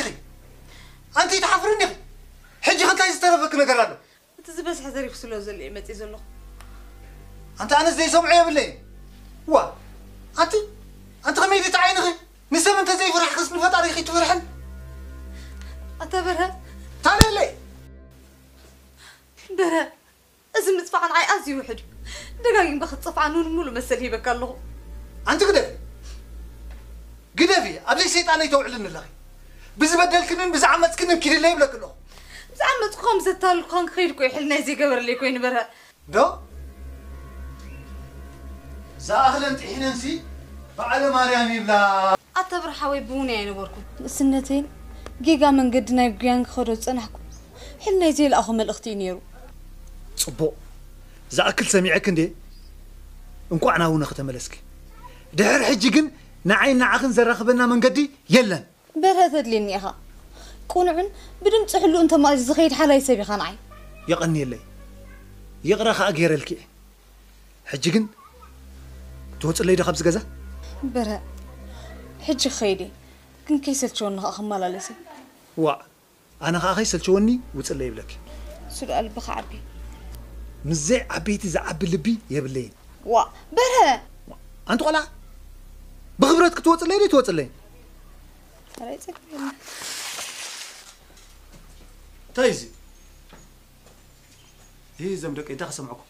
ኢኺ? ኣንቲ ትሓፍሪ እንዲኺ? ሕጂ ከ እንታይ ዝተረፈኪ ነገር ኣሎ? እቲ ዝበዝሐ ዘሪፍ ስለ ዘሎ እየ መፅእ ዘለኹ። ኣንቲ ኣነስ ዘይሰምዖ የብለይን። ዋ፣ ኣንቲ፣ ኣንቲ ከመይ ድቲ ዓይንኺ? ንሰብ እንተ ዘይፍራሕክስ ንፈጣሪ ከይትፍርሕን? ኣታ በርሀ። ታለለይ። በርሀ፣ እዚ ምጥፋእ ንዓይ ኣዝዩ ውሕድ እዩ። ደጋጊምካ ክትጠፍኣ ንሙሉእ መሰል ሂበካ ኣለኹ። ኣንቲ ግደፊ፣ ግደፊ፣ ኣብዚ ሰይጣነይ ተውዕልኒ ኣለኺ። ብዝበደልክንን ብዝዓመፅክንን ኪድለይ ይብለኪ ኣለኹ። ብዝዓመፅኩ ከም ዘታልልኩኻን ክኸይድ እኮ ይሕል ናይ ዘይገበረለይ ኮይኑ በርሀ። ዶ? ዝኣኽለን ጥሒነንሲ በዓለ ማርያም ይብላ። ኣታ ብርሓወይ ብውነ ኣይነበርኩን። ንእስነተይን ጌጋ መንገዲ ናይ ጉያን ክኸዶ ዝጸናሕኩ ሕልናይ ዘይለኣኹ መልእኽቲ እዩ ነይሩ። ጽቡቕ። ዝኣክል ሰሚዐክ እንዴ? እንቋዕ ናብ ውነኺ ተመለስኪ። ድሕሪ ሕጂ ግን ንዓይን ንዓኽን ዘራኽበና መንገዲ የለን። በርሀ ተድልየኒ ኢኻ። ቅኑዕን ብድምፂ ሕሉእን ተማእዚዙ ዝኸይድ ሓላይ ሰብ ኢኻ ንዓይ። የቐንየለይ። ይቕረ ኸኣ ገይረልኪ እየ። ሕጂ ግን ትወፅለይ ዶ ካብዚ ገዛ? በርሀ፣ ሕጂ ክኸይድ እየ። ግን ከይሰልቸወኒ ኸኣ ክመላለስ እየ። ዋእ፣ ኣነ ኸኣ ከይሰልቸወኒ ውፅለይ ይብለኪ። እሱ ደኣ ልብኻ ዓቢ። ምስ ዘይዓበይቲ ዝዓቢ ልቢ የብለይን። ዋእ፣ በርሀ! ኣንቲ ቆልዓ፣ ብኽብረት ክትወፅለይ ዶ ትወፅለይ? ኧረ ኣይጸግብን። እንታይ እዚ? ይህ ዘም ደቀይ እንታይ ከሰምዐኩም?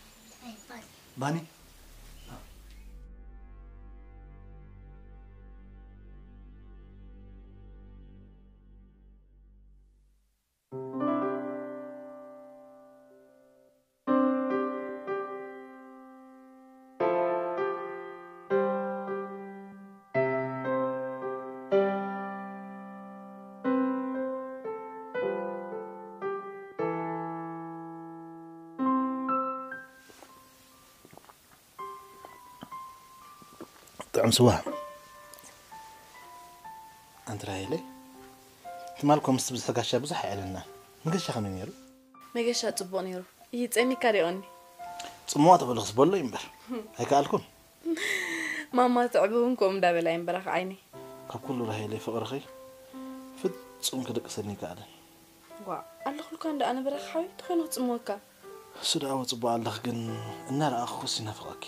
ባኒ? ጥዑም ስዋ። ኣንቲ ራሄለይ፣ ትማል እኮ ምስቲ ብዝሒ ጋሻ ብዙሕ ኣየዕለልናን። መገሻ ከመይ ነይሩ? መገሻ ጽቡቕ ነይሩ። ይጸሚካ ዶ ይቐኒ? ጽምዋ ተበልኽስ በሎ እዩ እምበር። ኣይከኣልኩን። ማማ ትዕቢ እውን ከምኡ እንዳበላ እየን በራኺ ዓይነይ። ካብ ኩሉ ራሄለይ ፍቕርኺ ፍጹም ክድቅሰኒ ኣይከኣለን። ዋ፣ ኣለኹልካ እንዳ ኣነ በራኺ ሓወይ፣ ተኾይኑ ክጽምወካ። እሱ ደኣ ወ ጽቡቕ ኣለኽ፣ ግን እናረኣኹኽስ ይናፍቐኪ።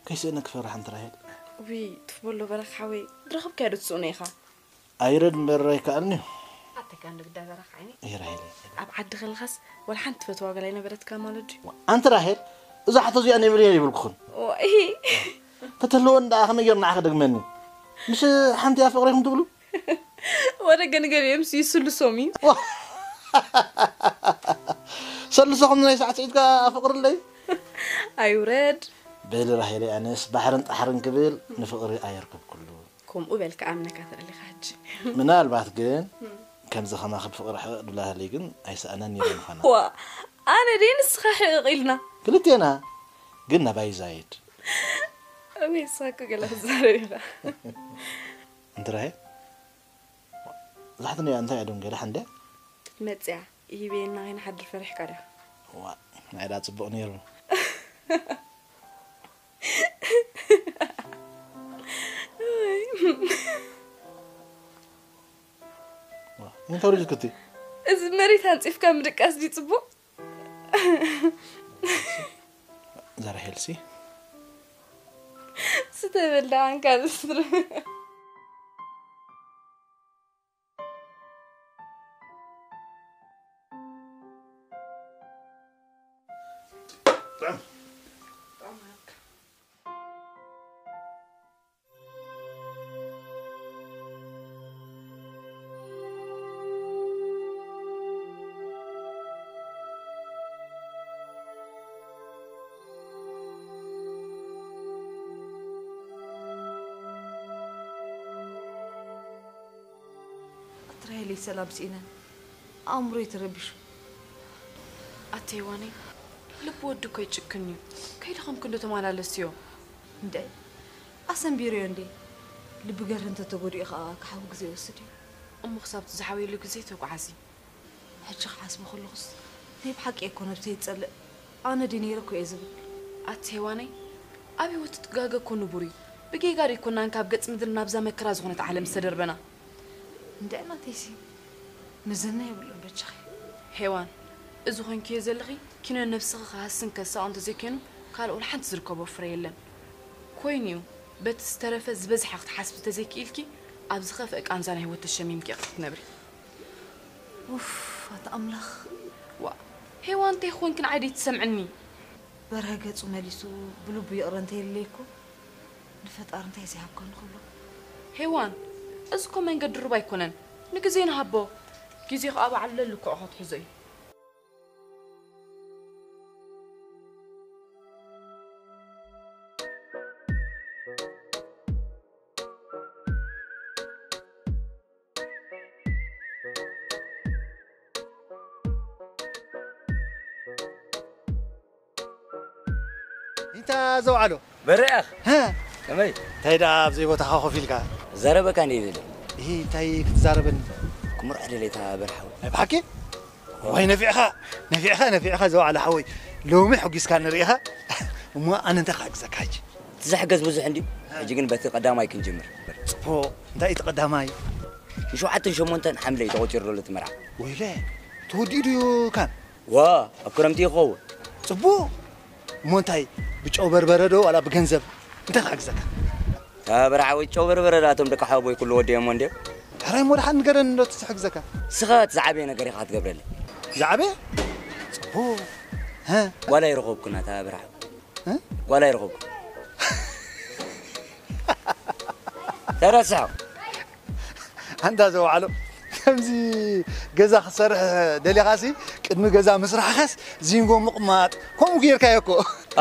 ከይስእነኪ ፈራሕ ኣንቲ ራሄል። ውይ፣ ትፍ በሎ በራኺ ሓወይ፣ ድረኸብካዮ ዶ ትስእኖ ኢኻ? ኣይረድ እምበር ኣይከኣልን'ዩ። ኣተካ እንዶ ግዳ በራኺ ዓይነይ። እይ ራሄለይ። ኣብ ዓዲ ከለኻስ ወላ ሓንቲ ትፈትዋ ጓል ኣይነበረትካ ማለት ድዩ? ኣንቲ ራሄል፣ እዛ ሕቶ እዚኣ ነይብልየ ይብልኩኽን። ዋይ። ተተልወን ደኣ ከመይ ገይሩ ንዓኺ ደግመኒ? ምሽ ሓንቲ እያ ፍቕረይኩም ትብሉ? ወደ ገንገል እዮም ሲ ስልሶም እዩ። ሰልሶኹም ናይ ሳዕስዒትካ ፍቕሪ ኣለይ? ኣይውረድ። በሊ ራሄለይ ኣነስ ባሕርን ጣሕርን ክብል ንፍቕሪ ኣየርክብኩሉ። ከምኡ በልካ ኣምነካ ተደሊኻ ሕጂ። ምናልባት ግን ከምዚ ከማኺ ብፍቕሪ ሕቕቕ ድብላ ህልይ ግን ኣይሰኣናን ነይረ ምዃና። ዋ፣ ኣነ ደይ ንስኻ ሕቕቕ ኢልና። ክልቴና ግን ናባይ ዛይድ። ወይ ንስኻ እኮ ገለ ክትዛረብ ኢኻ። እንተ ራሄል፣ ዛሕቲ ነያ እንታይ እያ ደንገላ ሓንደ? መጽያ፣ ይህቤና ከይንሓድር ፈሪሕካ ዲኻ? ዋ፣ ናይ ዳ ጽቡቕ ነይሩ። ዋ፣ እንታይ ወረድክቲ? እዚ መሬት ኣንጺፍካ ምድቃስ ድዩ ጽቡቕ? ዘራሄልሲ? ስተበል ደኣ ኣንካ ዝስር። ኣትራየለይ ሰላም ስኢነ ኣእምሮይ ተረቢሹ። ኣቲ ሄዋነይ፣ ልቢ ወዲ እኮ ይጭክን እዩ። ከይደኸምኪ እንዶ ተመላለስዮ። እንደ ኣሰንቢርዮ እንዴ? ልቢ ገርህ እንተተጎዲኡ ኸዓ ክሓዊ ግዜ ይወስድ እዩ። እሞ ክሳብ እቲ ዝሓውየሉ ግዜ ተጓዓዚ። ሕጂ ክሓስቦ ከለኹስ ናይ ብሓቂ እኮ ነብሰይ ይጸልእ። ኣነ ድየ ነይረ እኮ እየ ዝብል። ኣቲ ሄዋነይ፣ ኣብ ህይወት ትጋገ እኮ ንቡር እዩ። ብጌጋ ደይኮናን ካብ ገጽ ምድሪ ናብዛ መከራ ዝኾነት ዓለም ዝተደርበና። እንደ ናተይሲ መዘና የብሉን በጃኺ። ሄዋን፣ እዚ ኮንክዮ ዘለኺ ኪኖ ነብስኺ ክሃስን ከሳቕ እንተዘይኮይኑ ካልእ ወላ ሓንቲ ዝርከቦ ፍረ የለን። ኮይኑ እዩ፣ በቲ ዝተረፈ ዝበዝሐ ክትሓስቢ ተዘይክኢልኪ ኣብ ዝኸፍአ ቃንዛ ናይ ህይወት ተሸሚምኪ ኢኺ ክትነብሪ። ኡፍ ኣታ ኣምላኽ። ዋ ሄዋን፣ እንታይ ኮንኪ ንዓይ ደይትሰምዕኒ? በርሀ ገጹ መሊሱ ብልቡ ይቕረ እንተይለይኩ ንፈጣሪ እንታይ ዘይሃብካ ንኽብሎ። ሄዋን፣ እዚ እኮ መንገዲ ሩባ ኣይኮነን። ንግዜ ንሃቦ። ግዜ ከኣ በዓል ለልክዖ ክትሕዞ እዩ። እንታ ዘውዓሎ በረኣኽ ሀ ከመይ እንታይ ደኣ ኣብ ዘይቦታኻ ኮፍ ኢልካ ዘረበካ እንደ ይደሊ ይህ እንታይ ክትዛረበኒ ክምርዖ ደለታ በርሓዊ ናይ ብሓቂ ዋይ ነፊዕኻ ነፊዕኻ ነፊዕኻ ዘውዓሎ ሓወይ ሎሚ ሕጒስካ ንርኢኻ እሞ ኣነ እንታይ ክሕግዘካ ሕጂ ትዝሕገዝ ብዙሕ እንድዩ ሕጂ ግን በቲ ቀዳማይ ክንጅምር ፅቡቕ እንታይ እቲ ቀዳማይ ንሸውዓተን ሸሞንተን ሓምለ እዩ ተቆፂሩ ዘሎ እቲ መርዓ ወይለ ተወዲኡ ድዩ ካን ዋ ኣብ ክረምቲ ይኸውን ፅቡቕ እሞ እንታይ ብጨው በርበረ ዶ ዋላ ብገንዘብ እንታይ ክሕግዘካ ተበርዓዊ ጨው በርበረ ዳቶም ደቂ ሓወቦይ ኩሉ ወዲኦሞ እንድዮም ሕራይ እሞ ደሓን ንገረኒ እንዶ እቲ ዝሕግዘካ ስኻ እቲ ዝዓበየ ነገር ኢኻ ክትገብረለይ ዝዓበየ ፅቡቕ ሀ ጓላ ይረኸብኩና ተበርዓዊ ጓላ ይረኸብኩ ተረስዖ ኣንታ ዘውዓሎ ከምዚ ገዛ ክሰርሕ ደሊኻሲ ቅድሚ ገዛ ምስራሕኻስ ዚንጎ ምቕማጥ ከምኡ ገይርካዮ እኮ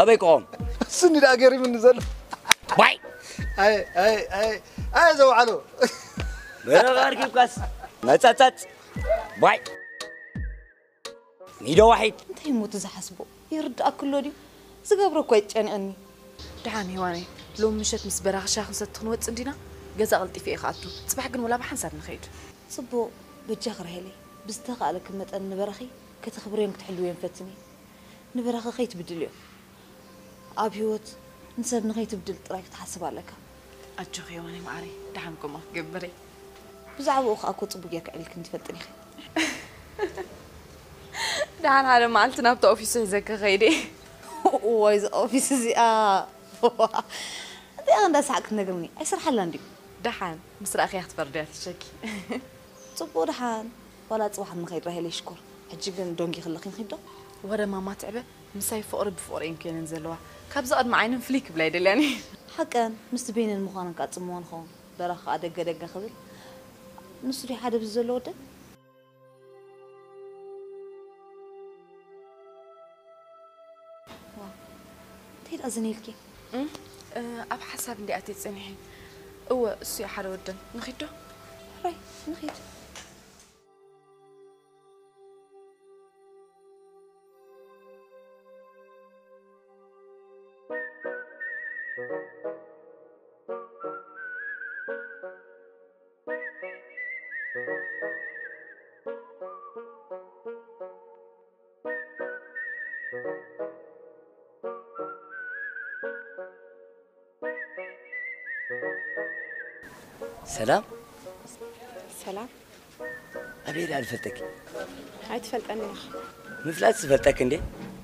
ኣበይ ክቖም እሱኒ ደኣ ገሪምኒ ዘሎ ዋይ ኣየ ኣየ ኣየ ኣየ ዘውዓሎ በረኻ ኣርኪብካስ መጸጸጽ ዋይ ኒዶ ዋሒድ እንታይ እሞ እቲ ዝሓስቦ ይርድኣኪ ኣሎ ድዩ ዝገብሮ እኮ ኣይጨንቐኒ ደሓን ሄዋነይ ሎሚ ምሸት ምስ በራኺ ሻሂ ክንሰቲ ክንወፅእ እንዲና ገዛ ቀልጢፈ እየ ክኣቱ ፅባሕ ግን ወላ ብሓንሳብ ንኸይድ ፅቡቕ በጃኺ ራሄለይ ብዝተኻእለኪ መጠን ንበራኺ ከተኽብርዮን ክትሕልውዮን ፈትኒ ንበራኺ ከይትብድልዮ ኣብ ህይወት ንሰብ ንኸይትብድል ጥራይ ክትሓስብ ኣለካ ኣጆኺ ሄዋነይ መዓረይ ደሓን ከምኡ ክትገብር እየ ብዛዕባኡ ከኣ እኮ ጽቡቅ ጌርካ ዕሊልክኒ ትፈልጥን ኢኺ። ደሓን ሓደ መዓልቲ ናብቲ ኦፊሱ ሒዘኪ ክኸይድ እየ። እዋይ እዛ ኦፊስ እዚኣ። እዚኣ እንዳ ሰሓቅ ክትነግርኒ ኣይሰርሓላን ድዩ? ደሓን ምስ ረኣኽያ ክትፈርድያ ትሸኪ። ጽቡቅ ደሓን ዋላ ጽባሕ ንኸይድ ራሄለይ ሽኮር። ሕጂ ግን ዶንጊ ክለኺ ንኺድ ዶ? ወረ ማማ ትዕበ ምሳይ ፍቕሪ ብፍቕሪ እየን ከይነን ዘለዋ። ካብዚ ቅድሚ ዓይነን ፍልይ ክብላ ኣይደልያን እየ። ሓቀን ምስቲ በይነን ምዃነን ከኣ ጽምዋ ንኸውን። በራኺ ከኣ ደገ ደገ ክብል ንሱ ድዩ ሓደ ብዚ ዘሎ ወደን? እንታይ ደኣ ዝን ኢልኪ? ኣብ ሓሳብ እንዲ ኣትየ ጸኒሐ። እወ እሱ እዩ ሓደ ወደን። ንኺድ ዶ? ሕራይ ንኺድ። ሰላም ሰላም ኣበይ ደኣ ዝፈልጠኪ ኣይትፈልጠኒ ኢኻ ምፍላጥ ዝፈልጠኪ እንዴ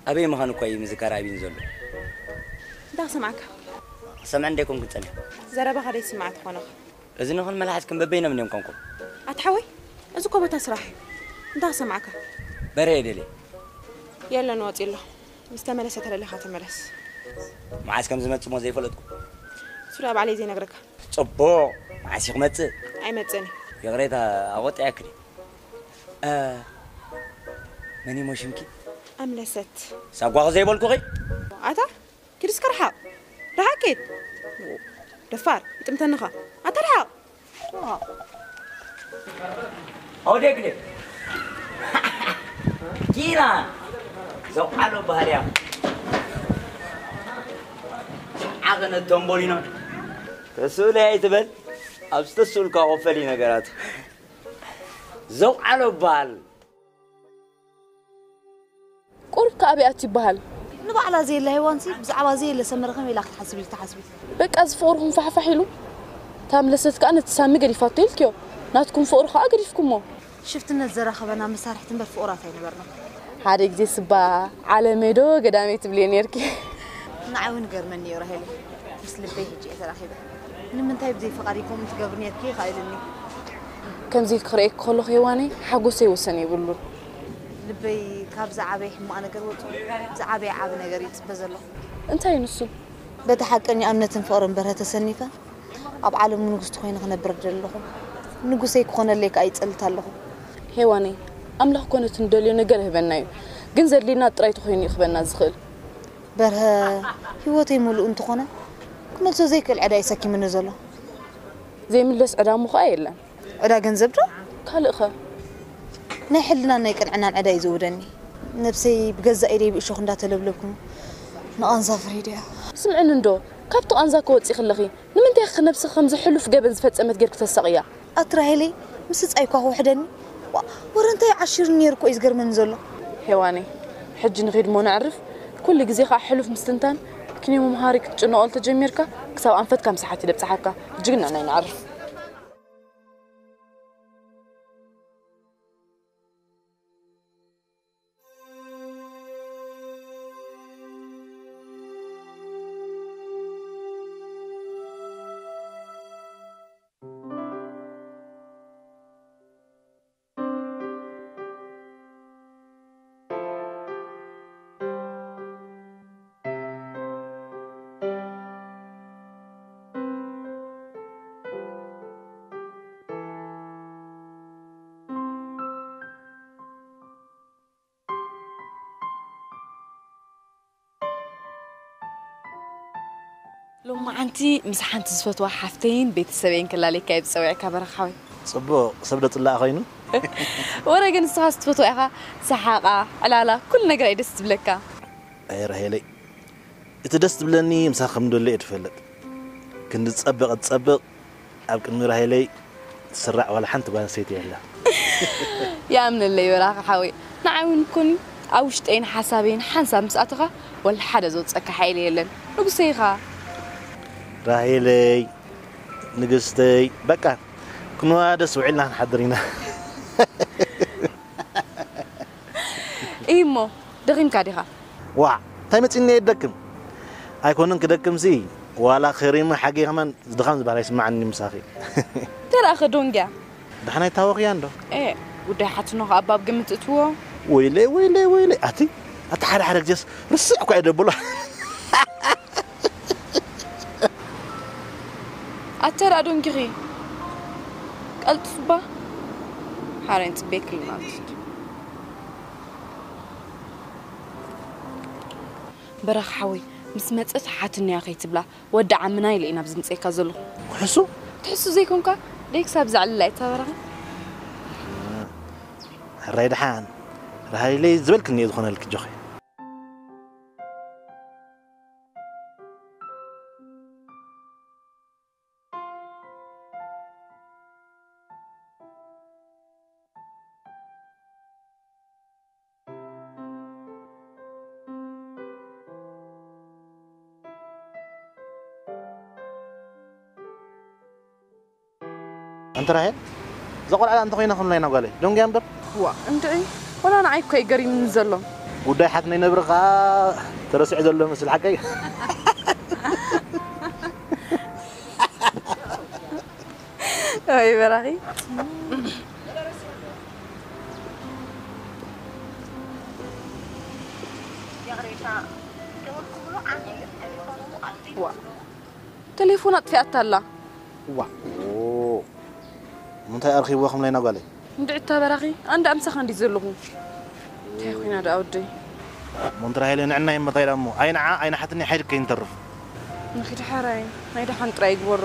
ኣበይ ምዃን እኳ እዩ ምዝካር ኣብይን ዘሎ እንታይ ክሰምዓካ ክሰምዐ እንደ ኮንኩ ጸኒሐ ዘረባኻ ደይስማዕ ትኾነኻ እዝንኽን መልሓስክን በበይኖም እዮም ኮንኩም። ኣቲ ሓወይ፣ እዚ እኮ ቦታ ስራሕ እዩ። እንታይ ክሰምዓካ? በርሀ እየ ደልየ። የለን፣ ወጺኡ ኣሎ። ምስ ተመለሰ ተደሊኻ ተመለስ። መዓስ ከም ዝመጽእ እሞ ዘይፈለጥኩ። እሱ ደኣ ባዕለይ ዘይነግረካ። ጽቡቕ። መዓስ እዩ ክመጽእ? ኣይመጽእን እዩ። ይቕሬታ፣ ኣቖጢዐኪ ድየ? እ፣ መን እሞ ሽምኪ? ኣምለሰት። ሳጓኺ ዘይበልኩኺ? ኣታ ኪድ እስከ ርሓቕ። ርሓቕ ኪድ። ደፋር፣ ይጥምተንኻ። ኣታ ርሓቕ። ኣውዴግዴ። ኪና። ዘውዓሎ ባህልያ። ዓቐነ ተምቦሊኖ። ተስእለ ኣይትበል። ኣብ ዝተስእልካ ቆፈሊ ነገራት። ዘውዓሎ በሃል። ቁሩብ ከኣ ኣበይ ኣትዩ ይበሃል። ንባዕላ ዘየላ ሄዋንሲ ብዛዕባ ዘየለ ሰመረ ከመይ ኢላ ክትሓስብ ኢልኪ ትሓስቢ? በቃ እዚ ፍቕርኹም ፋሕፋሕ ኢሉ። እታ ኣምለሰት ከኣ ነቲ ሳሚ ገዲፋቶ ኢልክዮ። ናትኩም ፍቕሪ ከኣ ገዲፍኩሞ። ሽፍትነት ዘራኸበና መሳርሕቲ እምበር ፍቑራት ኣይነበርና። ሓደ ግዜ ስባ ዓለመይ ዶ ገዳመይ ትብልዮ ነርኪ። ንዓይ እውን ገርመኒ እዩ ራሄል። ምስ ልበይ ሕጂ እየ ተራኺበ። ንምንታይ ብዘይ ፍቓድ ከምኡ ትገብሪ ነርኪ ይኽእልኒ። ከምዚ ክርእየኪ ከለኹ ሄዋነይ ሓጎሰይ ወሰን የብሉን። ልበይ ካብ ዝዓበየ ሕማቕ ነገር ወፂኡ ዝዓበየ ዓቢ ነገር ይፅበ ዘለኹ። እንታይ ንሱ? በቲ ሓቀኛ እምነትን ፍቕርን በርሀ ተሰኒፈ ኣብ ዓለሙ ንግስቲ ኮይነ ክነብር ደለኹ። ንጉሰይ ክኾነለይ ከኣ ይጸልት ኣለኹ። ሄዋነይ፣ ኣምላኽ ኮነ እቲ ንደልዮ ነገር ይህበና እዩ፣ ግን ዘድልየና ጥራይ ተኾይኑ እዩ ክህበና ዝኽእል። በርሀ ህይወተይ ምሉእ እንተኾነ ክመልሶ ዘይክእል ዕዳ እዩ ሰኪምኒ ዘሎ። ዘይምለስ ዕዳ እሞ ኸኣ የለን። ዕዳ ገንዘብ ዶ? ካልእ ኸ? ናይ ሕልናን ናይ ቅንዕናን ዕዳ እዩ ዘውደኒ። ነብሰይ ብገዛእ ኢደይ ብእሾኽ እንዳተለብለብኩ ንቓንዛ ፈሪደያ። ስምዕኒ እንዶ፣ ካብቲ ቓንዛ ክወጺ ከለኺ ንምንታይ ኢኺ ነብስኺ ከምዚ ሕሉፍ ገበን ዝፈጸመት ጌርኪ ተሳቕያ? ኣቲ ራሄለይ፣ ምስጻይ እኳ ክውሕደኒ፣ ዋ፣ ወረ እንታይ ዓሺርኒ ነይሩ እኮ እዩ ዝገርመኒ ዘሎ። ሄዋነይ፣ ሕጂ ንኺድ እሞ ነዕርፍ። ኩሉ ግዜ ኸኣ ሕሉፍ ምስትንታን፣ ምክንያቱ መምሃሪ ክትጭነቐሉ ተጀሚርካ፣ ክሳብ ኣንፈትካ ምሳሓት እዩ ደብጽሓካ። ሕጂ ግን ንዕናይ ነዕርፍ። ሎማዓንቲ ምስ ሓንቲ ዝፈትዋ ሓፍተይን ቤተሰበይን ክላለየካ እየ ዝጸዊዐካ በረኻ ሓወይ። ጽቡቕ፣ ሰብ ዶ ጽላእ ኮይኑ? ወረ ግን ንስኻስ ትፈትዋ ኢኻ፣ ሰሓቓ፣ ዕላላ፣ ኩሉ ነገራ እዩ ደስ ዝብለካ። ኣይ ራሄለይ፣ እቲ ደስ ዝብለኒ ምሳኺ ከም ደሎ እየ ዝፈልጥ። ክንዲ ዝጸብቕ ዝጸብቕ ኣብ ቅድሚ ራሄለይ ትስራዕ ዋላ ሓንቲ ጓል ኣንስተይቲ የላ። ይኣምነለይ በራኺ ሓወይ። ንዓይ እውን ኮኒ ኣብ ውሽጠይን ሓሳበይን ሓንሳብ ምስ ኣተኻ ወላ ሓደ ዘውፀካ ሓይሊ የለን። ንጉሰይ ኢኻ። ራሄለይ፣ ንግስተይ፣ በቃ ክንዋደስ ውዒልና ክንሓድር ኢና። እሞ ደኺምካ ዲኻ? ዋዕ፣ እንታይ መጺኒ እየ ክደክም? ኣይኮነን ክደክምሲ፣ ዋላ ከሪመ ሓጌ ከማን ድኻም ዝበሃል ኣይስምዓኒ ምሳኺ። ተራኸ ዶንግያ? ደሓን ኣይታወኽያ እንዶ? ኤ፣ ጉዳይ ሓትኖ ከኣ ኣብ ግምት እትዎ። ወይለይ፣ ወይለይ፣ ወይለይ፣ ኣቲ፣ ኣቲ ሓደ ሓደ ግዜስ ርስዕ እኳ እየ ደብሎ። ኣተ ደኣ ዶንጊኺ ቀልጥፍባ ሓረን ጽቤ ክልናት። በረኽ ሓወይ፣ ምስ መጸት ሓትንያ ከይትብላ፣ ወዲ ዓምና ኢለ ኢና ኣብዚ ምጸካ ዘለኹ። ክሕሱ? ትሕሱ ዘይኮንካ፣ ደይ ክሳብ ዘዕልላ እታ በረኻ። ሕራይ ደሓን፣ ራሃይለይ ዝበልክኒ እየ ዝኾነልኪ ጆኸይ። ኣንቲ ራሄል፣ እዛ ቆልዓ እንተ ኮይና ከምላይ ናብ ጓለይ ደንጉያ እምበር። ዋ፣ እንድዒ፣ ወላ ንዓይ እኮ እዩ ገሪምኒ ዘሎ። ጉዳይ ሓትነይ ነብሪ ኸኣ ተረሲዑ ዘሎ መስል ሓቀይ። ወይ በራኺ። ዋ፣ ተሌፎን ኣጥፊኣታ ኣላ። ዋ፣ ኦ፣ ምንታይ ኣርኺብዎ ከምላይ ናጓለይ? እንድዒ እታ በራኺ፣ ኣንዳ ኣምሳኻ እንዲ ዘለኹ። እንታይ ኮይና ደኣ ወደይ? ሞንትራ ሃይለ ንዕና ይመታይላ እሞ፣ ኣይንዓ፣ ኣይንሓትኒ ሓይድ ከይንተርፍ። ንኺድ ሓራይ፣ ናይ ደሓን ጥራይ ይግበሮ።